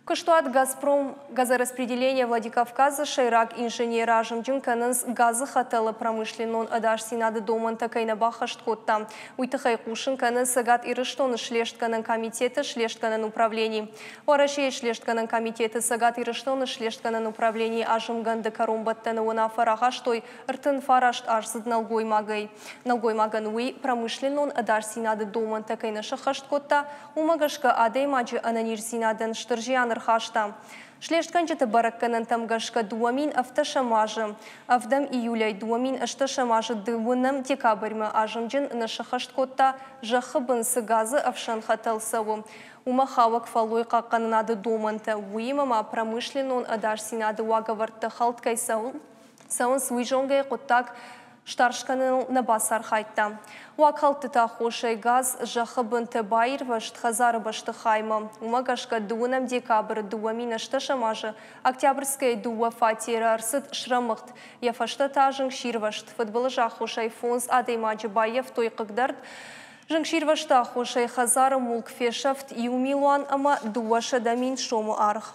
Куыстуат «Газпром» газораспределение Владикавказы сӕйраг инженеры азымджын кӕнынц, газы хӕтӕлы промышленнон ӕдасдзинады домӕнтӕ кӕй нӕ баххӕст кодта, уый тыххӕй, хъусын кӕны Цӕгат Ирыстоны Слестгӕнӕн комитеты слестгӕнӕн управлени. Уӕрӕсейы Слестгӕнӕн комитеты Цӕгат Ирыстоны слестгӕнӕн управленийы азымгӕнды кӕронбӕттӕны уынаффӕ рахастой 39 аздзыд нӕлгоймагӕй. Нӕлгоймагӕн уый промышленнон ӕдасдзинады домӕнтӕ кӕй нӕ сӕххӕст кодта, уымӕ гӕсгӕ адӕймаджы ӕнӕниздзинадӕн стыр зиан ӕрхаста. Слестгӕнджыты бӕрӕггӕнӕнтӕм гӕсгӕ 2017 азы ӕвдӕм июлӕй 2018 азы дыууынӕм декабрьмӕ азымджын нӕ сӕххӕст кодта, зӕххы бын цы газы ӕфсӕн хӕтӕл цӕуы, уымӕ хауӕг фӕллой хъахъхъӕнынады домӕнтӕ, уыимӕ ма промышленнон ӕдасдзинады уагӕвӕрдтӕ хӕлд кӕй цӕуынц, уый зонгӕйӕ хъуыддаг старш кӕныныл нӕ бацархайдта. Уагхӕлдтыты аххосӕй газ зӕххы бынты баирвӕзт хӕдзары бӕстыхаймӕ. Уымӕ гӕсгӕ дыууынӕм декабры 2018 азы Октябрьскӕйы дыууӕ фатеры ӕрцыд срӕмыгъд. Йӕ фӕстӕ та зынгсирвӕзт. Фыдбылызы аххосӕй фондз адӕймаджы баййӕфтой хъыгдӕрд. Зынгсирвӕзты аххосӕй хӕдзары мулк фесӕфт 1 милуан ӕмӕ 200 000 сомы аргъ.